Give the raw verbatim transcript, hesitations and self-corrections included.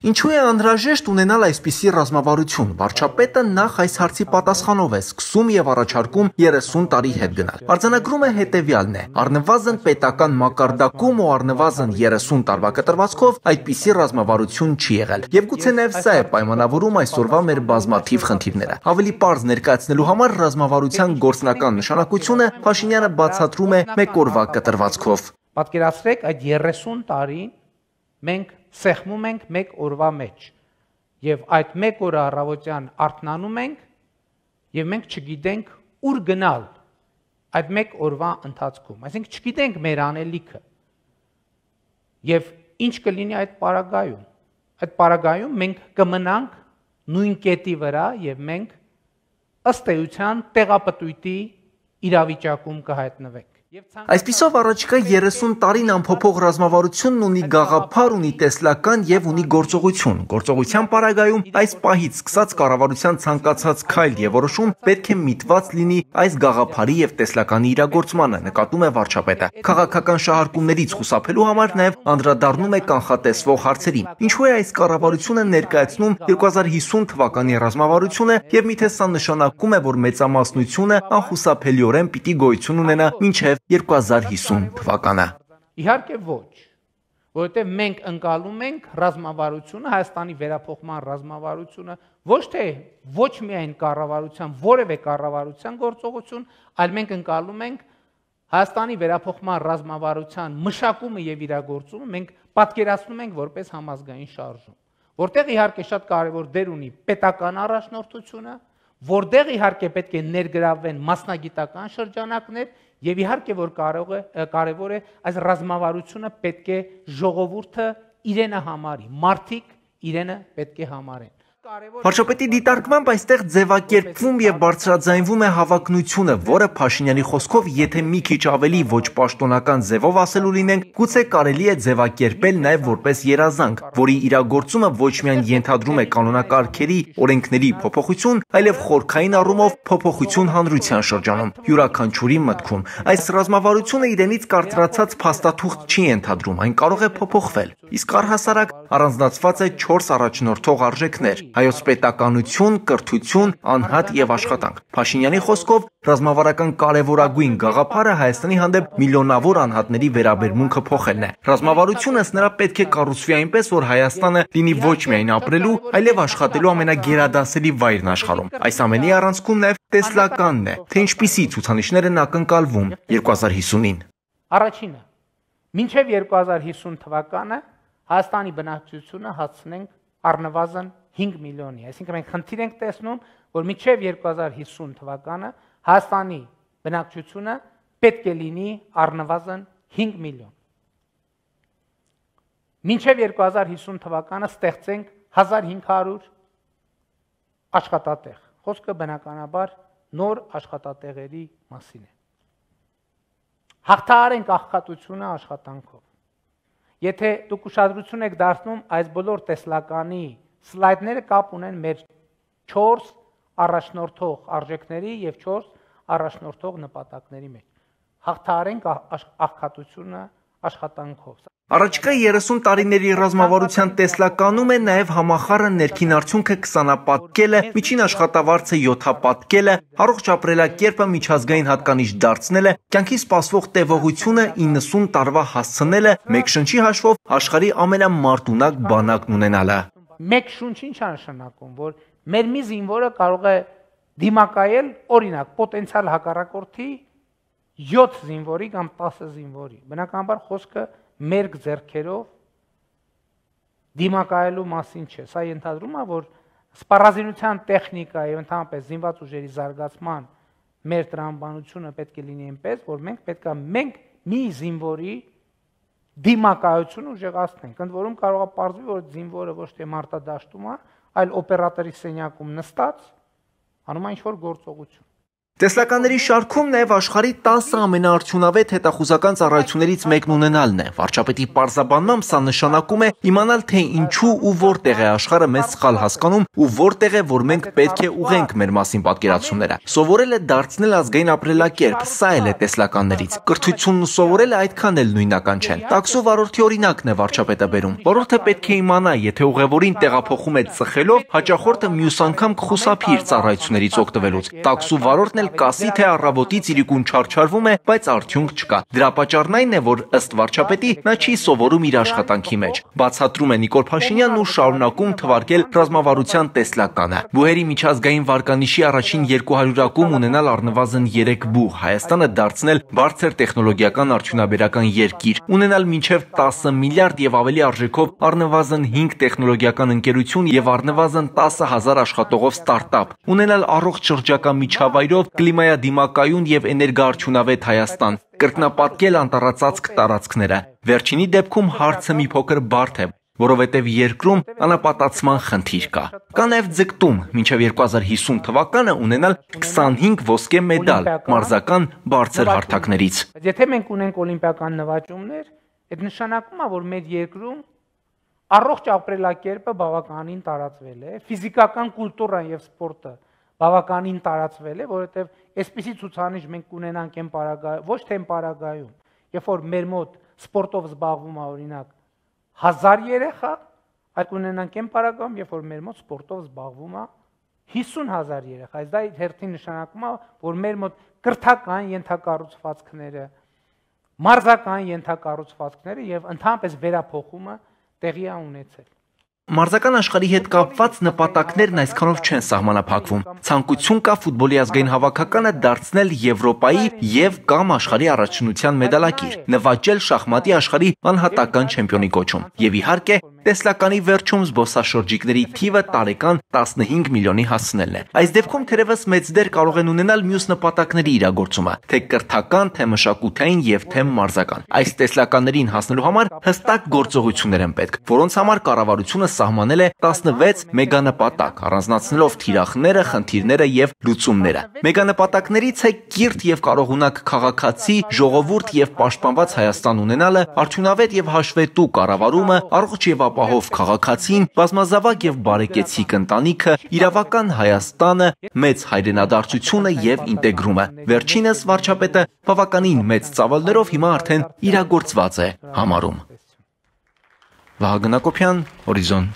Ինչու է անհրաժեշտ ունենալ այսպիսի ռազմավարություն։ Վարչապետը նախ այս հարցի պատասխանով է սկսում եւ առաջարկում երեսուն տարի հետ գնալ։ Արձանագրում է հետեւյալն է. առնվազն պետական մակարդակում ու առնվազն երեսուն տարվա կտրվածքով այդպիսի ռազմավարություն չի եղել։ Եվ գուցե նաեւ սա է պայմանավորում այսօրվա մեր բազմաթիվ խնդիրները։ Ավելի պարզ ներկայացնելու համար ռազմավարության գործնական նշանակությունը Փաշինյանը բացատրում է մեկ օրվա կտրվածքով։ Պատկերացրեք այդ երեսուն տարին մենք սեղմում ենք մեկ օրվա մեջ եւ այդ մեկ օրը առավոտյան արթնանում ենք եւ մենք չգիտենք ուր գնալ այդ մեկ օրվա ընթացքում, այսինքն չգիտենք մեր անելիքը եւ ինչ կլինի այդ պարագայում։ Այդ պարագայում մենք կմնանք նույն կետի վրա եւ մենք ըստ էության տեղապտույտի իրավիճակում կհայտնվենք։ Այսպիսով առաջիկա երեսուն տարին անփոփոխ ռազմավարությունն ունի գաղափար, ունի տեսլական եւ ունի գործողություն։ Գործողության պարագայում այս պահից սկսած կառավարության ցանկացած քայլ եւ որոշում պետք է միտված լինի այս գաղափարի եւ տեսլականի իրագործմանը, նկատում է վարչապետը։ Քաղաքական շահարկումներից խուսափելու համար նաեւ անդրադառնում է կանխատեսվող հարցերին։ Ինչու է այս կառավարությունը ներկայացնում երկու հազար հիսուն թվականի ռազմավարությունը եւ միթե սա նշանակում է, որ մեծամասնությունը անխուսափելիորեն պիտի գոյություն ունենա մինչեւ երկու հազար հիսուն թվականը։ Իհարկե ոչ, որովհետև մենք ընկալում ենք ռազմավարությունը, Հայաստանի վերափոխման ռազմավարությունը, ոչ թե ոչ միայն կառավարության, որևէ կառավարության գործողություն, այլ մենք ընկալում ենք Հայաստանի վերափոխման ռազմավարության մշակումը եւ իրագործումը մենք պատկերացնում ենք որպես համազգային շարժում, որտեղ իհարկե շատ կարևոր դեր ունի պետական առաջնորդությունը, որտեղ իհարկե պետք է ներգրավվեն մասնագիտական շրջանակներ եւ իհարկե որ կարող է կարևոր է այս ռազմավարությունը պետք է ժողովուրդը իրենը համարի, մարդիկ իրենը պետք է համարեն։ Վարչապետի դիտարկմամբ այստեղ ձևակերպվում եւ բարձրաձայնվում է հավակնությունը, որը Փաշինյանի խոսքով, եթե մի քիչ ավելի ոչ պաշտոնական ձևով ասելու լինենք, գուցե կարելի է ձևակերպել նաեւ որպես երազանք, որի իրագործումը ոչ միայն ենթադրում է կանոնակարգերի, օրենքների փոփոխություն, այլև խորքային առումով փոփոխություն հանրության շրջանում, յուրաքանչյուրի մտքում։ Այս ռազմավարությունը իրենից կարծրացած փաստաթուղթ չի ենթադրում, այն կարող է փոփոխվել։ Իսկ առհասարակ առանձնացված է չորս առաջնորդող արժեքներ՝ հայոց պետականություն, կրթություն, անհատ եւ աշխատանք։ Փաշինյանի խոսքով ռազմավարական կարևորագույն գաղափարը Հայաստանի հանդեպ միլիոնավոր անհատների վերաբերմունքը փոխելն է։ Ռազմավարությունը ըստ նրա պետք է կառուցվի այնպես, որ Հայաստանը լինի ոչ միայն ապրելու, այլև աշխատելու ամենագերադասելի վայրն աշխարհում։ Այս ամենի առանցքում նաեւ տեսլականն է, թե ինչպիսի ցուցանիշներ են ակնկալվում երկու հազար հիսունին։ Առաջինը, մինչև երկու հազար հիսուն թվականը Հայաստանի բնակչությունը հասցնենք առնվազն հինգ միլիոնի, այսինքն մենք խնդիր ենք տեսնում, որ մինչև երկու հազար հիսուն թվականը Հայաստանի բնակչությունը պետք է լինի առնվազն հինգ միլիոն։ Մինչև երկու հազար հիսուն թվականը ստեղծենք հազար հինգ հարյուր աշխատատեղ։ Խոսքը բնականաբար նոր աշխատատեղերի մասին է։ Հաղթահարենք աղքատությունը աշխատանքով։ Եթե դուք ուշադրություն եք դարձնում այս բոլոր տեսլականի սլայդները կապ ունեն մեր չորս առաջնորդող արժեքների եւ չորս առաջնորդող նպատակների մեջ։ Հաղթահարենք աղքատությունը աշխատանքով։ Առաջիկա երեսուն տարիների ռազմավարության տեսլականում է նաև համախառն ներքին արդյունքը քսանապատկելը, միջին աշխատավարձը յոթապատկելը, առողջ ապրելակերպը միջազգային հատկանիշ դարձնելը, կյանքի սպասվող տևողությունը իննսուն տարվա հասցնելը, մեկ շնչի հաշվով աշխարհի ամենամարտունակ բանակն ունենալը։ Մեկ շունչ ինչ է նշանակում, որ մեր մի զինվորը կարող է դիմակայել, օրինակ, պոտենցիալ հակառակորդի յոթ զինվորի կամ տասը զինվորի։ Բնականաբար խոսքը մերկ ձեռքերով դիմակայելու մասին չէ։ Սա ենթադրում է, որ սպառազինության տեխնիկա եւ ընդհանրապես զինված ուժերի զարգացման մեր տրամաբանությունը պետք է լինի այնպես, որ մենք պետք է մենք մի զինվորի դիմակայությունը ուժեղացնենք։ Ընդ որում կարող է պարզվի, որ զինվորը ոչ թե մարտադաշտում է, այլ օպերատորի սենյակում նստած անում է ինչ-որ գործողություն։ Տեսլականների շարքում նաև աշխարհի տասը ամենաարդյունավետ հետախուզական ծառայություններից մեկն ունենալն է։ Վարչապետի պարզաբանմամբ սա նշանակում է իմանալ, թե ինչու ու որտեղ է աշխարհը մեզ սխալ հասկանում ու որտեղ է, որ մենք պետք է ուղենք մեր մասին պատկերացումները։ Սովորել է դարձնել ազգային ապրելակերպ, սա էլ է տեսլականներից։ Կրթությունն ու սովորելը այդքան էլ նույնական չեն։ Տաքսու վարորդի օրինակն է վարչապետը բերում։ Վարորդը պետք է իմանա, եթե ուղևորին տեղափոխում է ծխելով, հաճախորդը մյուս անգամ կխուսափի իր ծառայություններից օգտվելուց։ Տաքսու վարորդն էլ կասի, թե առավոտից իրիկուն չարչարվում է, բայց արդյունք չկա։ Դրա պատճառն այն է, որ ըստ վարչապետի նա չի սովորում իր աշխատանքի մեջ։ Բացատրում է Նիկոլ Փաշինյանն ու շարունակում թվարկել ռազմավարության տեսլականը։ Բուհերի միջազգային վարկանիշի առաջին երկու հարյուրակում ունենալ առնվազն երեք բուհ, Հայաստանը դարձնել բարձր տեխնոլոգիական արդյունաբերական երկիր, ունենալ մինչև տասը միլիարդ եւ ավելի արժեքով առնվազն հինգ տեխնոլոգիական ընկերություն եւ առնվազն տասը հազար աշխատողով ստարտափ, ունենալ առողջ շրջակա միջավայրով կլիմայադիմակայուն եւ էներգոարդյունավետ Հայաստան, կրկնապատկել անտառածածկ տարածքները։ Վերջինի դեպքում հարցը մի փոքր բարդ է, որովհետև երկրում անապատացման խնդիր կա։ Կա նաև ձգտում մինչև երկու հազար հիսուն թվականը ունենալ քսանհինգ ոսկե մեդալ մարզական բարձր հարթակներից։ Եթե մենք ունենք օլիմպիական նվաճումներ, այդ նշանակում է, որ մեր երկրում առողջ ապրելակերպը բավականին տարածվել է, ֆիզիկական կուլտուրան եւ սպորտը բավականին տարածվել է, որովհետև այսպիսի ցուցանիշ մենք կունենանք այն պարագայում, ոչ թե այն պարագայում, երբ որ մեր մոտ սպորտով զբաղվում է օրինակ հազար երեխա, այդ կունենանք այն պարագայում, երբ որ մեր մոտ սպորտով զբաղվում է հիսուն հազար երեխա։ Այս դա հերթին նշանակում է, որ մեր մոտ կրթական ենթակառուցվածքները, մարզական ենթակառուցվածքները եւ ընդհանրապես վերափոխումը տեղի է ունեցել։ Մարզական աշխարհի հետ կապված նպատակներն այսքանով չեն սահմանափակվում։ Ցանկություն կա ֆուտբոլի ազգային հավաքականը դարձնել Եվրոպայի եւ կամ աշխարհի առաջնության մեդալակիր, նվաճել շախմատի աշխարհի անհատական չեմպիոնի կոչում։ Եվ իհարկե, տեսլականի վերջում զբոսաշրջիկների թիվը տարեկան տասնհինգ միլիոնի հասնելն է։ Այս դեպքում թերևս մեծ դեր կարող են ունենալ մյուս նպատակների իրագործումը, թե կրթական, թե մշակութային եւ թե մարզական։ Այս տեսլականներին հասնելու համար հստակ գործողություններ են պետք, որոնց համար կառավարությունը սահմանել է տասնվեց մեգանպատակ, առանձնացնելով թիրախները, խնդիրները եւ լուծումները։ Մեգանպատակներից է կիրթ եւ կարողունակ քաղաքացի, ժողովուրդ եւ պաշտպանված Հայաստան ունենալը, արդյունավետ եւ հաշվետու կառավարումը, առողջ եւ ապահով քաղաքացին, բազմազավակ եւ բարեկեցիկ ընտանիքը, իրավական Հայաստանը, մեծ հայրենադարձությունը եւ ինտեգրումը։ Վերջինս վարչապետը բավականին մեծ ծավալներով հիմա արդեն իրագործված է համարում։ Վահագն Հակոբյան, Օրիզոն։